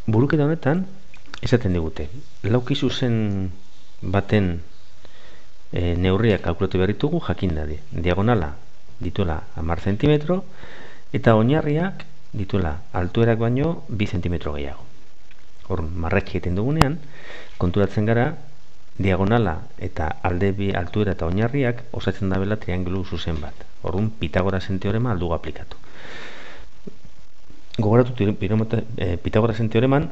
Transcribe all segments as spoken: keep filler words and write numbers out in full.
buruketa honetan, esaten digute, lauki zuzen baten e, neurriak kalkulatu behar ditugu jakin dadi. Diagonala dituela hamar zentimetro, eta oinarriak dituela altuerak baino bi zentimetro gehiago. Hor, marratxi egiten dugunean, konturatzen gara, diagonala eta alde bi altuera eta oinarriak osatzen dabela triangelu zuzen bat. Orduan, Pitagorasen teorema aldugu aplikatu. Gogoratu e, Pitagorasen teoreman,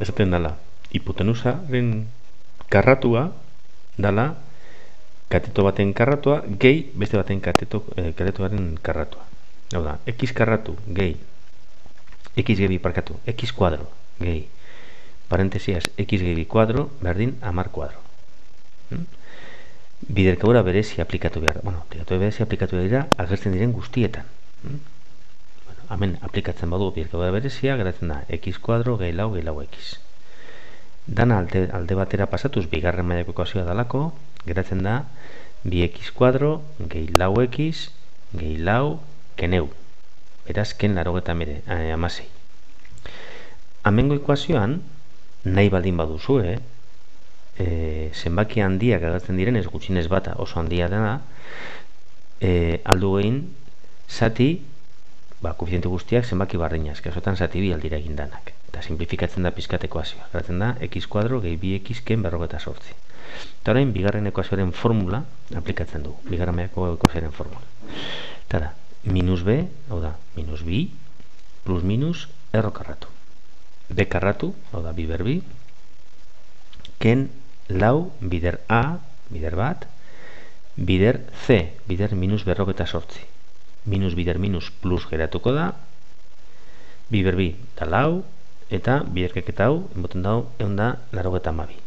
esaten dela, hipotenusaren karratua dala kateto baten karratua gehi beste baten kateto, e, katetoaren karratua. Hau da, x karratu gehi x gehi parkatu, x kuadro gehi parentesiaz x gehi kuadro berdin hamar kuadro. Hmm? Biderkadura berezi aplikatu behar. Bueno, biderkadura berezi aplikatu dira agertzen diren guztietan. Hmm? Bueno, hemen aplikatzen badu biderkadura berezia, geratzen da x kuadro gehi lau gehi lau x. Dana alde, alde batera pasatuz bigarren mailako ekuazioa dalako, geratzen da bi x kuadro gehi lau x gehi lau keneu. Beraz, ken larogeta mere, eh, amasei. Hemengo ekuazioan, nahi baldin baduzu, eh? E, zenbaki handiak agertzen diren ez gutxinez bata oso handia dena, e, aldu egin zati, ba, koefiziente guztiak zenbaki barrinaz, kasotan zati bi aldira egin danak. Eta simplifikatzen da pizkat ekuazioa. Geratzen da, x kuadro gehi bi x ken berrogeta sortzi. Eta orain, bigarren ekuazioaren formula aplikatzen du. Bigarren mailako ekuazioaren formula. Eta da, minus b, hau da, minus bi, plus minus, erro karratu. B karratu, hau da, bi berbi, ken lau, bider a, bider bat, bider c, bider minus berrogeta sortzi. Minus bider minus plus geratuko da, bi berbi da lau, eta biderkeketa hau, enboten dau, egon da, larogeta amabi.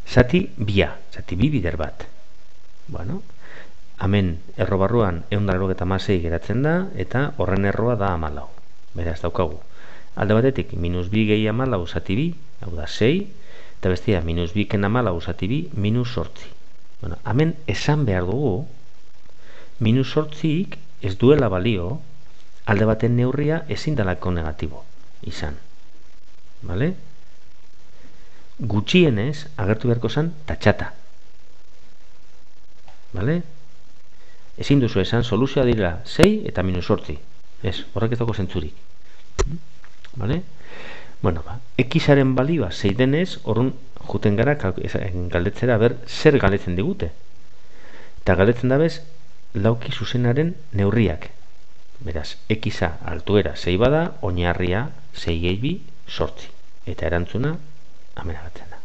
Zati bia, zati bi bider bat. Bueno, hemen erro barruan egun da larogeta amasei geratzen da, eta horren erroa da amalau. Beraz, daukagu. Alde batetik, minus bi gehi amalau zati bi, hau da sei, eta bestia, minus bi ken amalau zati bi, minus sortzi. Bueno, hemen esan behar dugu, minus sortziik ez duela balio, alde baten neurria ezin dalako negatibo izan. Vale? Gutxienez, agertu beharko zen, tatxata. Vale? Ezin duzu esan, soluzioa dira sei eta minus sortzi. Ez, horrek ez dago zentzurik. Vale? Bueno, ba, xaren balioa sei denez, orrun juten gara galdetzera, ber, zer galdetzen digute. Eta galdetzen dabez, lauki zuzenaren neurriak. Beraz, xa altuera sei bada, oinarria sei gehi bi sortzi. Eta erantzuna, hemen agatzen da.